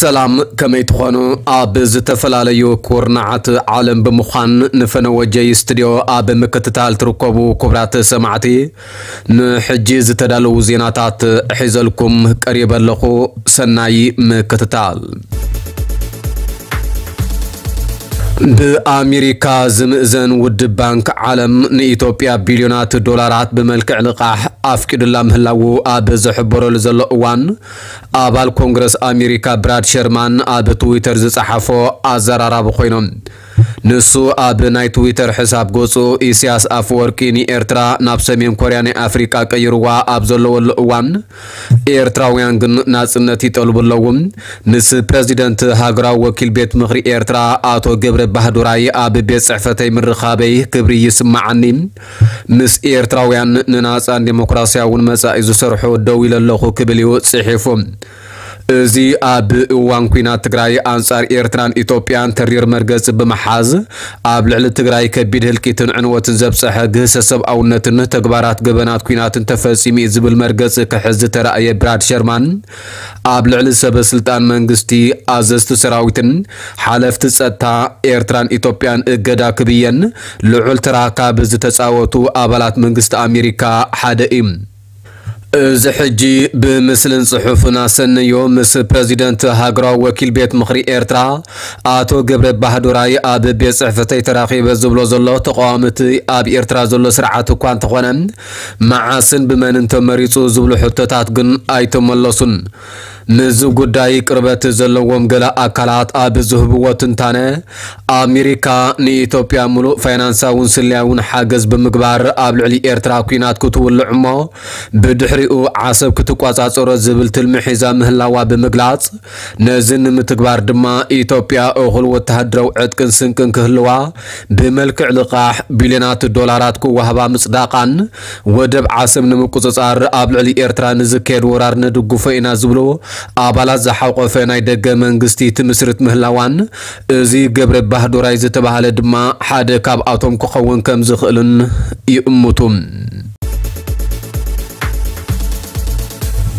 ሰላም፣ ከመይ ትኾኑ? ኣብ ዝተፈላለዩ ኩርናዓት ዓለም ብምዃን ንፈነወ ጀይ ስቱድዮ ኣብ ምክትታል ትርከቡ ክቡራት ሰማዕቲ፣ ንሕጂ ዝተዳለዉ ዜናታት ሒዘልኩም ቀሪበ ኣለኹ። ሰናይ ምክትታል። ብኣሜሪካ ዝምእዘን ውድብ ባንክ ዓለም ንኢትዮጵያ ቢልዮናት ዶላራት ብመልክዕ ልቓሕ ኣፍቂዱላ ምህላዉ ኣብ ዝሕበረሉ ዘሎ እዋን፣ ኣባል ኮንግረስ ኣሜሪካ ብራድ ሸርማን ኣብ ትዊተር ዝጸሓፎ ኣዘራራቢ ኮይኖም። ንሱ ኣብ ናይ ትዊተር ሕሳብ ገጹ፣ ኢሳያስ ኣፈወርቂ ንኤርትራ ናብ ሰሜን ኮርያ ናይ ኣፍሪቃ ቀይርዋ ኣብ ዘለወሉ እዋን፣ ኤርትራውያን ግን ናጽነት ይጠልቡ ኣለዉ። ምስ ፕረዚደንት ሃገራዊ ወኪል ቤት ምኽሪ ኤርትራ ኣቶ ገብረ ባህዱራይ ኣብ ቤት ጽሕፈተይ ምርኻበይ ክብሪ ይስምዓኒ። ምስ ኤርትራውያን ንናጻን ዴሞክራስያውን መጻኢ ዝሰርሑ ደው ኢለ ኣለኹ ክብል እዩ ጽሒፉ። እዚ ኣብ እዋን ኲናት ትግራይ ኣንጻር ኤርትራን ኢትዮጵያን ተሪር መርገጺ ብምሓዝ፣ ኣብ ልዕሊ ትግራይ ከቢድ ህልቂትን ዕንወትን ዘብጸሐ ግህሰ ሰብኣውነትን ተግባራት ገበናት ኲናትን ተፈጺሙ እዩ ዝብል መርገጺ ክሕዝ ዝተራእየ ብራድ ሸርማን፣ ኣብ ልዕሊ ሰበ ስልጣን መንግስቲ፣ ኣዘዝቲ ሰራዊትን ሓለፍቲ ጸጥታ ኤርትራን ኢትዮጵያን እገዳ ክብየን ልዑል ተራ ካብ ዝተጻወቱ ኣባላት መንግስቲ ኣሜሪካ ሓደ እዩ። እዚ ሕጂ ብምስልን ጽሑፍን ኣሰነዮ ምስ ፕረዚደንት ሃገራዊ ወኪል ቤት ምኽሪ ኤርትራ ኣቶ ገብረ ባህዱራይ ኣብ ቤት ጽሕፈተይ ተራኺበ ዝብሎ ዘሎ፣ ተቃዋምቲ ኣብ ኤርትራ ዘሎ ስርዓት እኳ እንተኾነ፣ መዓስን ብመንን ተመሪጹ ዝብሉ ሕቶታት ግን ኣይተመለሱን። ምስዚ ጉዳይ ቅርበት ዘለዎም ገለ ኣካላት ኣብ ዝህብዎ ትንታነ፣ ኣሜሪካ ንኢትዮጵያ ምሉእ ፋይናንሳውን ስለያውን ሓገዝ ብምግባር ኣብ ልዕሊ ኤርትራ ኲናት ክትውልዕ እሞ ብድሕሪኡ ዓሰብ ክትቆጻጸሮ ዝብል ትልሚ ሒዛ ምህላዋ ብምግላጽ፣ ነዚ ንምትግባር ድማ ኢትዮጵያ እኹል ወተሃደራዊ ዕጥቅን ስንቅን ክህልዋ ብመልክዕ ልቓሕ ቢልዮናት ዶላራት ክወሃባ ምጽዳቓን፣ ወደብ ዓሰብ ንምቁጽጻር ኣብ ልዕሊ ኤርትራ ንዝካየድ ወራር ንድግፎ ኢና ዝብሉ ኣባላት ዝሓቆፈ ናይ ደገ መንግስቲ ትምስርት ምህላዋን፣ እዚ ገብረ ባህዱራይ ዝተባህለ ድማ ሓደ ካብኣቶም ክኸውን ከም ዝኽእልን ይእምቱ።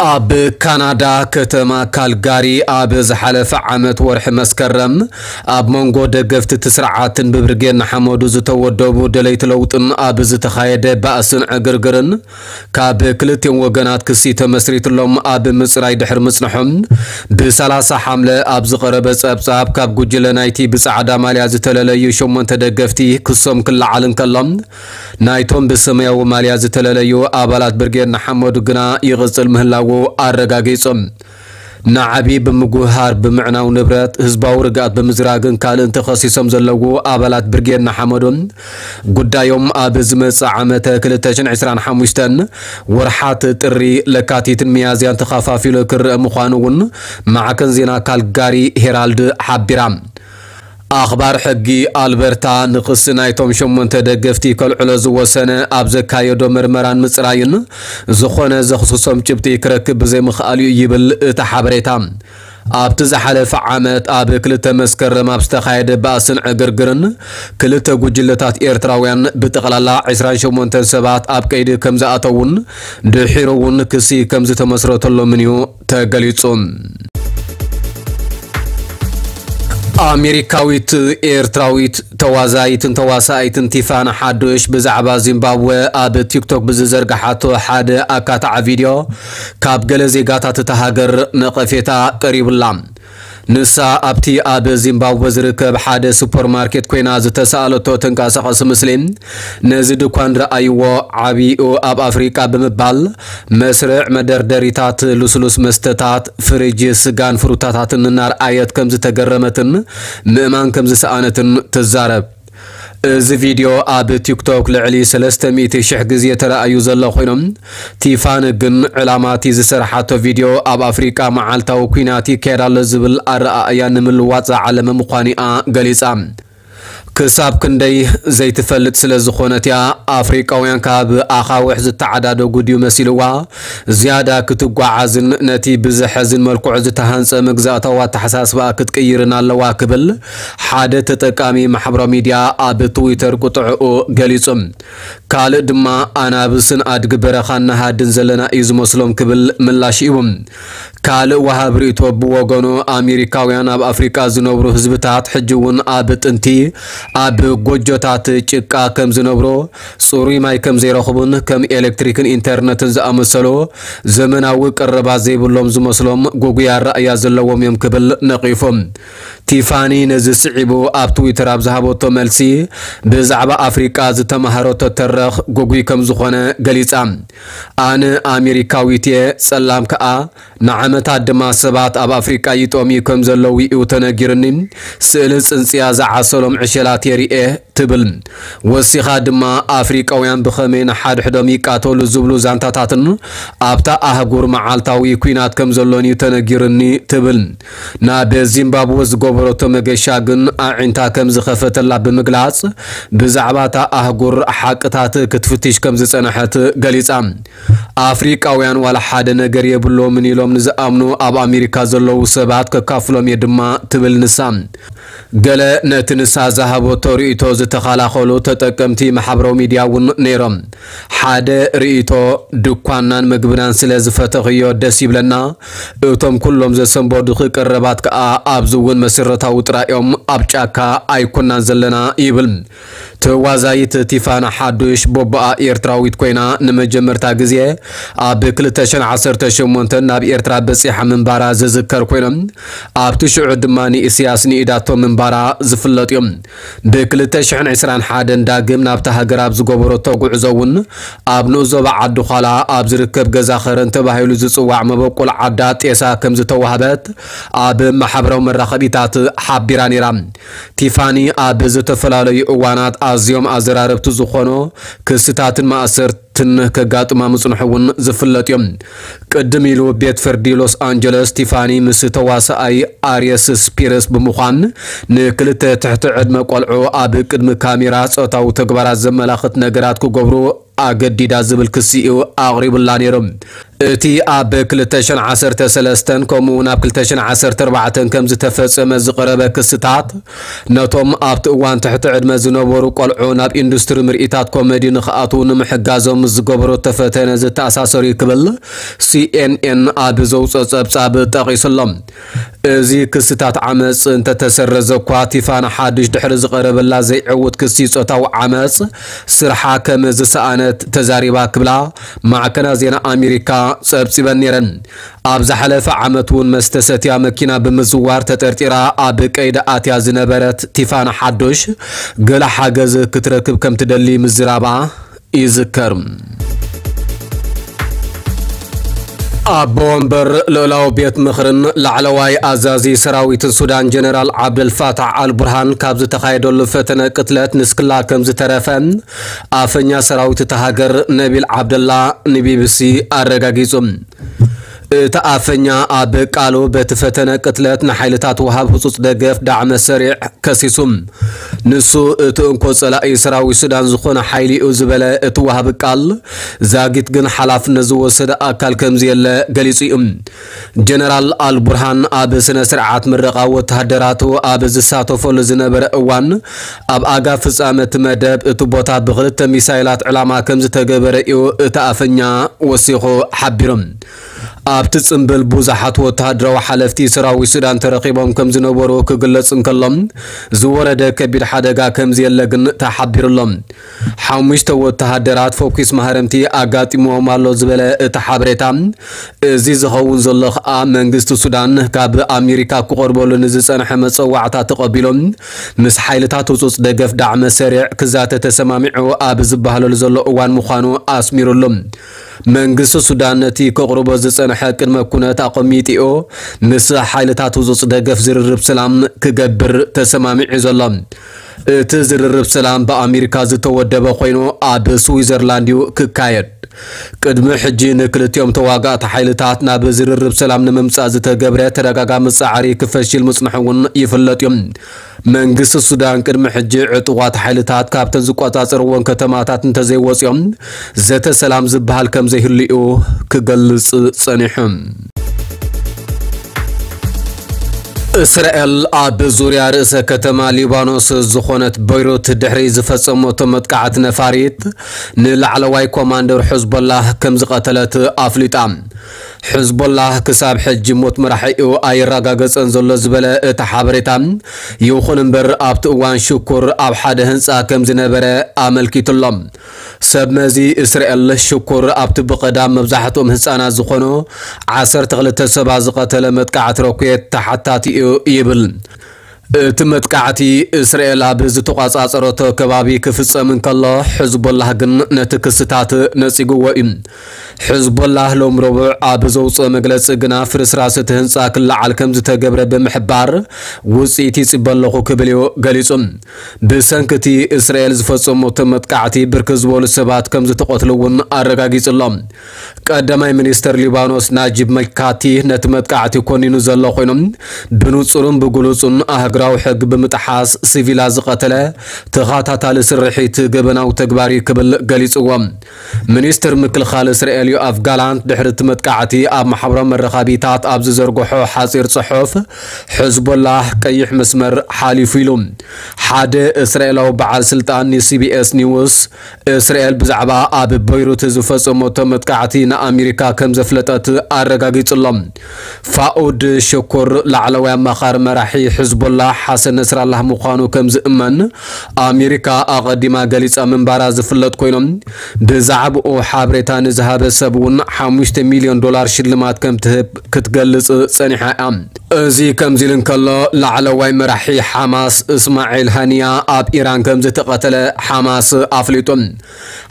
ኣብ ካናዳ ከተማ ካልጋሪ ኣብ ዝሓለፈ ዓመት ወርሒ መስከረም ኣብ መንጎ ደገፍቲ እቲ ስርዓትን ብብርጌድ ንሓመዱ ዝተወደቡ ደለይቲ ለውጥን ኣብ ዝተኻየደ ባእስን ዕግርግርን ካብ ክልቲኦም ወገናት ክሲ ተመስሪትሎም ኣብ ምጽራይ ድሕሪ ምጽንሖም፣ ብ30 ሓምለ ኣብ ዝቐረበ ጸብጻብ ካብ ጉጅለ ናይቲ ብጻዕዳ ማልያ ዝተለለዩ ሸሞንተ ደገፍቲ ክሶም ክለዓል እንከሎ፣ ናይቶም ብሰማያዊ ማልያ ዝተለለዩ ኣባላት ብርጌድ ንሓመዱ ግና ይቕጽል ምህላዉ ኣረጋጊጹ። ንዓቢ ብምጉህሃር፣ ብምዕናው ንብረት፣ ህዝባዊ ርግኣት ብምዝራግን ካልእን ተኸሲሶም ዘለዉ ኣባላት ብርጌድ ንሓመዱ፣ ጉዳዮም ኣብ ዝመጽእ ዓመተ ክልተ ሽሕን ዕስራን ሓሙሽተን ወርሓት ጥሪ፣ ለካቲትን ሚያዝያን ተኸፋፊሉ ክረአ ምዃኑ እውን ማዕከን ዜና ካልጋሪ ሄራልድ ሓቢራ። ኣኽባር ሕጊ ኣልበርታ ንኽሲ ናይቶም ሸሞንተ ደገፍቲ ከልዕሎ ዝወሰነ ኣብ ዘካየዶ መርመራን ምጽራይን ዝኾነ ዘኽስሶም ጭብጢ ክረክብ ብዘይምኽኣሉ እዩ ይብል እቲ ሓበሬታ። ኣብቲ ዝሓለፈ ዓመት ኣብ ክልተ መስከረም ኣብ ዝተኻየደ ባእስን ዕግርግርን ክልተ ጉጅለታት ኤርትራውያን ብጠቕላላ ዕስራን ሸሞንተን ሰባት ኣብ ቀይዲ ከም ዝኣተዉን ድሒሩ እውን ክሲ ከም ዝተመስረተሎምን እዩ ተገሊጹ። ኣሜሪካዊት ኤርትራዊት ተዋዛይትን ተዋሳኢትን ቲፋን ሓዱሽ ብዛዕባ ዚምባብወ ኣብ ቲክቶክ ብዝዘርግሓቶ ሓደ ኣካታዒ ቪድዮ ካብ ገለ ዜጋታት እታ ሃገር ነቐፌታ ቀሪቡላ። ንሳ ኣብቲ ኣብ ዚምባብወ ዝርከብ ሓደ ሱፐርማርኬት ኮይና ዝተሳእለቶ ተንቀሳቓሲ ምስሊ፣ ነዚ ድኳን ረኣይዎ፣ ዓብይኡ ኣብ ኣፍሪቃ ብምባል መስርዕ መደርደሪታት ልስሉስ መስተታት፣ ፍሪጅ፣ ስጋን ፍሩታታትን እናርኣየት ከም ዝተገረመትን ምእማን ከም ዝሰኣነትን ትዛረብ። እዚ ቪድዮ ኣብ ቲክቶክ ልዕሊ ሰለስተ ሚእቲ ሽሕ ግዜ ተራእዩ ዘሎ ኮይኖም፣ ቲፋን ግን ዕላማ እቲ ዝሰርሓቶ ቪድዮ ኣብ ኣፍሪቃ መዓልታዊ ኲናት ይካየድ ኣሎ ዝብል ኣረኣእያ ንምልዋጥ ዝዓለመ ምዃኑ እያ ገሊጻ። ክሳብ ክንደይ ዘይትፈልጥ ስለ ዝኾነት እያ፣ ኣፍሪቃውያን ካብ ኣኻውሕ ዝተዓዳደጉ ድዩ መሲልዋ፣ ዝያዳ ክትጓዓዝን ነቲ ብዘሐዝን መልክዑ ዝተሃንጸ መግዛእታዊ ኣተሓሳስባ ክትቅይርን ኣለዋ ክብል ሓደ ተጠቃሚ ማሕበራዊ ሚድያ ኣብ ትዊተር ቁጥዕኡ ገሊጹ። ካልእ ድማ ኣናብስን ኣድጊ በረኻን ንሃድን ዘለና እዩ ዝመስሎም ክብል ምላሽ ሂቡ። ካልእ ወሃብ ርእይቶ ብወገኑ ኣሜሪካውያን ኣብ ኣፍሪቃ ዝነብሩ ህዝብታት ሕጂ እውን ኣብ ጥንቲ ኣብ ጎጆታት ጭቃ ከም ዝነብሩ፣ ጽሩይ ማይ ከም ዘይረኽቡን ከም ኤሌክትሪክን ኢንተርነትን ዝኣመሰሉ ዘመናዊ ቀረባት ዘይብሎም ዝመስሎም ጉጉይ ኣረኣእያ ዘለዎም እዮም ክብል ነቒፉ። ቲፋኒ ነዚ ስዒቡ ኣብ ትዊተር ኣብ ዝሃበቶ መልሲ ብዛዕባ ኣፍሪቃ ዝተማሃረቶ ተረኽ ጉጉይ ከም ዝኾነ ገሊጻ። ኣነ ኣሜሪካዊት እየ፣ ጸላም ከኣ። ንዓመታት ድማ ሰባት ኣብ ኣፍሪቃ ይጠምዩ ከም ዘለዉ እዩ ተነጊርኒ። ስእሊ ጽንጽያ ዝዓሰሎም ዕሸላት የርእየ ትብል። ወሲኻ ድማ ኣፍሪቃውያን ብኸመይ ንሓድሕዶም ይቃተሉ ዝብሉ ዛንታታትን ኣብታ ኣህጉር መዓልታዊ ኲናት ከም ዘሎን እዩ ተነጊርኒ ትብል። ናብ ዚምባብወ ዝገበረቶ መገሻ ግን ኣዒንታ ከም ዝኸፈተላ ብምግላጽ ብዛዕባ እታ ኣህጉር ሓቅታት ክትፍትሽ ከም ዝጸንሐት ገሊጻ። ኣፍሪቃውያን ዋላ ሓደ ነገር የብሎምን ኢሎም ንዝኣምኑ ኣብ ኣሜሪካ ዘለዉ ሰባት ከካፍሎም እየ ድማ ትብል ንሳ። ገለ ነቲ ንሳ ዝሃበቶ ርእይቶ ዝተኸላኸሉ ተጠቀምቲ ማሕበራዊ ሚድያ እውን ነይሮም። ሓደ ርእይቶ፣ ድኳንናን ምግብናን ስለ ዝፈተኽዮ ደስ ይብለና፣ እቶም ኩሎም ዘሰንበዱኺ ቀረባት ከኣ ኣብዚ እውን መሰረታዊ ጥራይ እዮም፣ ኣብ ጫካ ኣይኮናን ዘለና ይብል። ተዋዛይት ቲፋና ሓዱሽ ቦቦኣ ኤርትራዊት ኮይና ንመጀመርታ ግዜ ኣብ ክልተ ሽሕን ዓሰርተ ሸሞንተን ናብ ኤርትራ በጺሓ ምንባራ ዝዝከር ኮይኖም ኣብቲ ሽዑ ድማ ንኢስያስ ንኢዳቶ ምንባራ ዝፍለጥ እዩ። ብ ክልተ ሽሕን ዕስራን ሓደን ዳግም ናብታ ሃገር ኣብ ዝገበረቶ ጉዕዞ እውን ኣብ ንኡስ ዞባ ዓዲ ዃላ ኣብ ዝርከብ ገዛ ኸረን ተባሂሉ ዝጽዋዕ መበቆል ዓዳ ጤሳ ከም ዝተዋህበት ኣብ ማሕበራዊ መራኸቢታት ሓቢራ ነይራ። ቲፋኒ ኣብ ዝተፈላለዩ እዋናት ኣዝዮም ኣዘራረብቲ ዝኾኑ ክስታትን ማእሰርትን ከጋጥማ ምጽንሑ እውን ዝፍለጥ እዩ። ቅድም ኢሉ ቤት ፍርዲ ሎስ ኣንጀለስ ቲፋኒ ምስ ተዋሳኣይ ኣርየስ ስፒርስ ብምዃን ንክልተ ትሕቲ ዕድመ ቆልዑ ኣብ ቅድሚ ካሜራ ጾታዊ ተግባራት ዘመላኽት ነገራት ክገብሩ ኣገዲዳ ዝብል ክሲ እዩ ኣቕሪቡላ ነይሩ። እቲ ኣብ ክልተ ሽሕን ዓሰርተ ሰለስተን ከምኡ እውን ኣብ ክልተ ሽሕን ዓሰርተ ኣርባዕተን ከም ዝተፈጸመ ዝቐረበ ክስታት፣ ነቶም ኣብቲ እዋን ትሕቲ ዕድመ ዝነበሩ ቆልዑ ናብ ኢንዱስትሪ ምርኢታት ኮሜዲ ንኽኣትዉ ንምሕጋዞም ዝገበረቶ ፈተነ ዝተኣሳሰሩ እዩ ክብል ሲኤንኤን ኣብ ዘውፅኦ ጸብጻብ ጠቒሱ ኣሎ። እዚ ክስታት ዓመጽ እንተተሰረዘ እኳ፣ ቲፋና ሓዱሽ ድሕሪ ዝቐረበላ ዘይዕዉት ክሲ ጾታዊ ዓመጽ ስርሓ ከም ዝሰኣነት ተዛሪባ ክብላ ማዕከናት ዜና ኣሜሪካ ጸብጺበን ነይረን። ኣብ ዝሓለፈ ዓመት እውን መስተ ሰትያ መኪና ብምዝዋር ተጠርጢራ ኣብ ቀይዲ ኣትያ ዝነበረት ቲፋና ሓዱሽ፣ ገለ ሓገዝ ክትረክብ ከም ትደሊ ምዝራባ ይዝከር። ኣቦ ወንበር ልኡላዊ ቤት ምኽርን ላዕለዋይ ኣዛዚ ሰራዊትን ሱዳን ጀነራል ዓብደልፋታሕ ኣልቡርሃን ካብ ዝተኻየደሉ ፈተነ ቅትለት ንስክላ ከም ዝተረፈ ኣፈኛ ሰራዊት እታ ሃገር ነቢል ዓብደላ ንቢቢሲ ኣረጋጊጹ። እቲ ኣፈኛ ኣብ ቃሉ፣ በቲ ፈተነ ቅትለት ንሓይልታት ወሃብ ህጹጽ ደገፍ ዳዕመ ሰሪዕ ከሲሱ። ንሱ፣ እቲ እንኮ ጸላኢ ሰራዊት ሱዳን ዝኾነ ሓይሊ እዩ ዝበለ እቲ ወሃቢ ቃል፣ ዛጊት ግን ሓላፍነት ዝወሰደ ኣካል ከም ዘየለ ገሊጹ እዩ። ጀነራል ኣልቡርሃን ኣብ ስነ ስርዓት ምረቓ ወተሃደራቱ ኣብ ዝሳተፈሉ ዝነበረ እዋን፣ ኣብ ኣጋ ፍጻመ እቲ መደብ እቲ ቦታ ብኽልተ ሚሳይላት ዕላማ ከም ዝተገበረ እዩ እቲ ኣፈኛ ወሲኹ ሓቢሩ። ኣብቲ ጽምብል ብዙሓት ወተሃደራዊ ሓለፍቲ ሰራዊት ሱዳን ተረኺቦም ከም ዝነበሩ ክግለጽ እንከሎ፣ ዝወረደ ከቢድ ሓደጋ ከም ዘየለ ግን ተሓቢሩ ኣሎ። ሓሙሽተ ወተሃደራት ፈኲስ ማህረምቲ ኣጋጢምዎም ኣሎ ዝበለ እቲ ሓበሬታ፣ እዚ ዝኸውን ዘሎ ከኣ መንግስቲ ሱዳን ካብ ኣሜሪካ ክቐርበሉ ንዝጸንሐ መጸዋዕታ ተቐቢሉ ምስ ሓይልታት ህጹጽ ደገፍ ዳዕመ ሰሪዕ ክዛተ ተሰማሚዑ ኣብ ዝበሃለሉ ዘሎ እዋን ምዃኑ ኣስሚሩሉ። መንግስቲ ሱዳን ነቲ ከቕርቦ ዝጸንሐ ቅድመ ኩነት ኣቐሚጥኡ ምስ ሓይልታት ህጹጽ ደገፍ ዝርርብ ሰላም ክገብር ተሰማሚዑ ዘሎ። እቲ ዝርርብ ሰላም ብኣሜሪካ ዝተወደበ ኮይኑ ኣብ ስዊዘርላንድ እዩ ክካየድ። ቅድሚ ሕጂ ንክልቲኦም ተዋጋእቲ ሓይልታት ናብ ዝርርብ ሰላም ንምምጻእ ዝተገብረ ተደጋጋሚ ጻዕሪ ክፈሽል ምጽንሑ እውን ይፍለጥ እዩ። መንግስቲ ሱዳን ቅድሚ ሕጂ ዕጡቓት ሓይልታት ካብተን ዝቆጻጸርዎን ከተማታት እንተዘይወጽኦም ዘተ ሰላም ዝበሃል ከም ዘይህሉ እዩ ክገልጽ ጸኒሑ። እስራኤል ኣብ ዙርያ ርእሰ ከተማ ሊባኖስ ዝኾነት በይሩት ድሕሪ ዝፈጸመቶ መጥቃዕቲ ነፋሪት ንላዕለዋይ ኮማንደር ሕዝቦላህ ከም ዝቐተለት ኣፍሊጣ። ሕዝቦላህ ክሳብ ሕጂ ሞት መራሒኡ ኣይረጋገጸን ዘሎ ዝበለ እቲ ሓበሬታ፣ ይኹን እምበር ኣብቲ እዋን ሽኩር ኣብ ሓደ ህንጻ ከም ዝነበረ ኣመልኪቱሎም። ሰብ መዚ እስራኤል ሽኩር ኣብቲ ብቐዳም መብዛሕትኦም ህጻናት ዝኾኑ ዓሰርተ ክልተ ሰባት ዝቐተለ መጥቃዕቲ ሮኬት ተሓታቲ እዩ ይብል። እቲ መጥቃዕቲ እስራኤል ኣብ ዝተቋጻጸረቶ ከባቢ ክፍጸም እንከሎ፣ ሕዝቦላህ ግን ነቲ ክስታት ነጺግዎ እዩ። ሕዝቦላህ ሎም ረቡዕ ኣብ ዘውፅኦ መግለፂ ግና ፍርስራስ እቲ ህንፃ ክለዓል ከም ዝተገብረ ብምሕባር ውፅኢት ይፅበ ኣለኹ ክብል እዩ ገሊፁ። ብሰንኪ እቲ እስራኤል ዝፈፀመቶ መጥቃዕቲ ብርክት ዝበሉ ሰባት ከም ዝተቐትሉ እውን ኣረጋጊፁ ኣሎ። ቀዳማይ ሚኒስተር ሊባኖስ ናጂብ መካቲ ነቲ መጥቃዕቲ ኮኒኑ ዘሎ ኮይኑ፣ ብንጹርን ብግሉጹን ኣህግራዊ ሕጊ ብምጥሓስ ሲቪላት ዝቐተለ ተኸታታሊ ስርሒት ገበናዊ ተግባር እዩ ክብል ገሊጽዎ። ሚኒስትር ምክልኻል እስራኤል ዮኣፍ ጋላንት ድሕሪ እቲ መጥቃዕቲ ኣብ ማሕበራዊ መራኸቢታት ኣብ ዝዘርግሖ ሓጺር ጽሑፍ፣ ሕዝቦላህ ቀይሕ መስመር ሓሊፉ ኢሉ። ሓደ እስራኤላዊ በዓል ስልጣን ንሲቢኤስ ኒውስ እስራኤል ብዛዕባ ኣብ በይሩት ዝፈጸመቶ መጥቃዕቲ ንኣሜሪካ ከም ዘፍለጠት ኣረጋጊጹ ኣሎ። ፋኡድ ሽኩር ላዕለዋይ ኣማኻሪ መራሒ ሕዝቦላህ ሓሰን ነስራላህ ምዃኑ ከም ዝእመን ኣሜሪካ ኣቐዲማ ገሊጻ ምንባራ ዝፍለጥ ኮይኑ፣ ብዛዕባኡ ሓበሬታ ንዝሃበ ሰብ እውን ሓሙሽተ ሚልዮን ዶላር ሽልማት ከም ትህብ ክትገልጽ ጸኒሓ እያ። እዚ ከምዚ ኢሉ እንከሎ፣ ላዕለዋይ መራሒ ሓማስ እስማዒል ሃኒያ ኣብ ኢራን ከም ዝተቐተለ ሓማስ ኣፍሊጡ።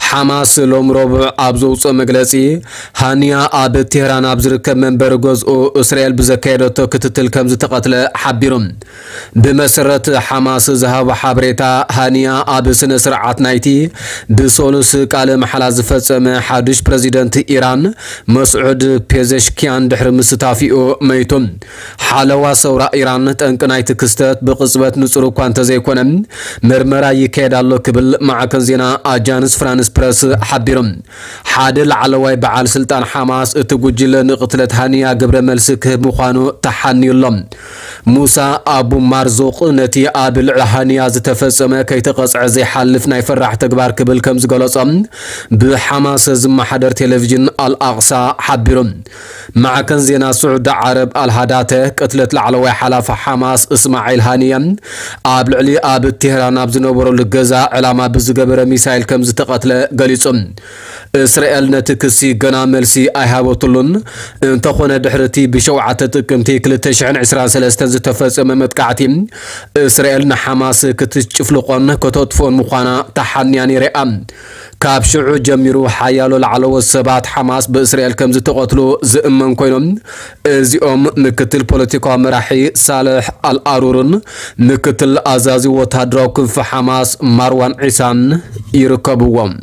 ሓማስ ሎም ረቡዕ ኣብ ዘውፅኦ መግለፂ፣ ሃኒያ ኣብ ቴህራን ኣብ ዝርከብ መንበሪ ገዝኡ እስራኤል ብዘካየደቶ ክትትል ከም ዝተቐትለ ሓቢሩ። ብመሰረት ሓማስ ዝሃቦ ሓበሬታ፣ ሃኒያ ኣብ ስነ ስርዓት ናይቲ ብሰሉስ ቃለ መሓላ ዝፈጸመ ሓዱሽ ፕረዚደንት ኢራን መስዑድ ፔዘሽኪያን ድሕሪ ምስታፊኡ መይቱ። ሓለዋ ሰውራ ኢራን ጠንቂ ናይቲ ክስተት ብቕጽበት ንጹር እኳ እንተዘይኮነ፣ ምርመራ ይካየድ ኣሎ ክብል ማዕከን ዜና ኣጃንስ ፍራንስ ፕረስ ሓቢሩ። ሓደ ላዕለዋይ በዓል ስልጣን ሓማስ እቲ ጉጅለ ንቕትለት ሃኒያ ግብረ መልሲ ክህብ ምዃኑ ተሓንዩ ኣሎ። ሙሳ ኣቡ ማርዙቕ ነቲ ኣብ ልዕሊ ሃኒያ ዝተፈጸመ ከይተቐጽዐ ዘይሓልፍ ናይ ፈራሕ ተግባር ክብል ከም ዝገለጾ ብሓማስ ዝመሓደር ቴሌቪዥን ኣልኣቕሳ ሓቢሩ። ማዕከን ዜና ስዑዲ ዓረብ ኣልሃዳተ ቅትለት ላዕለዋይ ሓላፊ ሓማስ እስማዒል ሃኒየ ኣብ ልዕሊ ኣብ ቴህራን ኣብ ዝነበረሉ ገዛ ዕላማ ብዝገበረ ሚሳይል ከም ዝተቐትለ ገሊጹ። እስራኤል ነቲ ክሲ ገና መልሲ ኣይሃበትሉን። እንተኾነ ድሕሪ እቲ ብሸውዓተ ጥቅምቲ ክልተ ሽሕን ዕስራን ሰለስተን ዝተፈጸመ መጥቃዕቲ እስራኤል ንሓማስ ክትጭፍልቖን ከተጥፍኦን ምዃና ተሓንያ ነይራ እያ። ካብ ሽዑ ጀሚሩ ሓያሎ ላዕለዎት ሰባት ሓማስ ብእስራኤል ከም ዝተቐትሉ ዝእመን ኮይኖም፣ እዚኦም ምክትል ፖለቲካዊ መራሒ ሳልሕ ኣልኣሩርን ምክትል ኣዛዚ ወታደራዊ ክንፊ ሓማስ ማርዋን ዒሳን ይርከብዎም።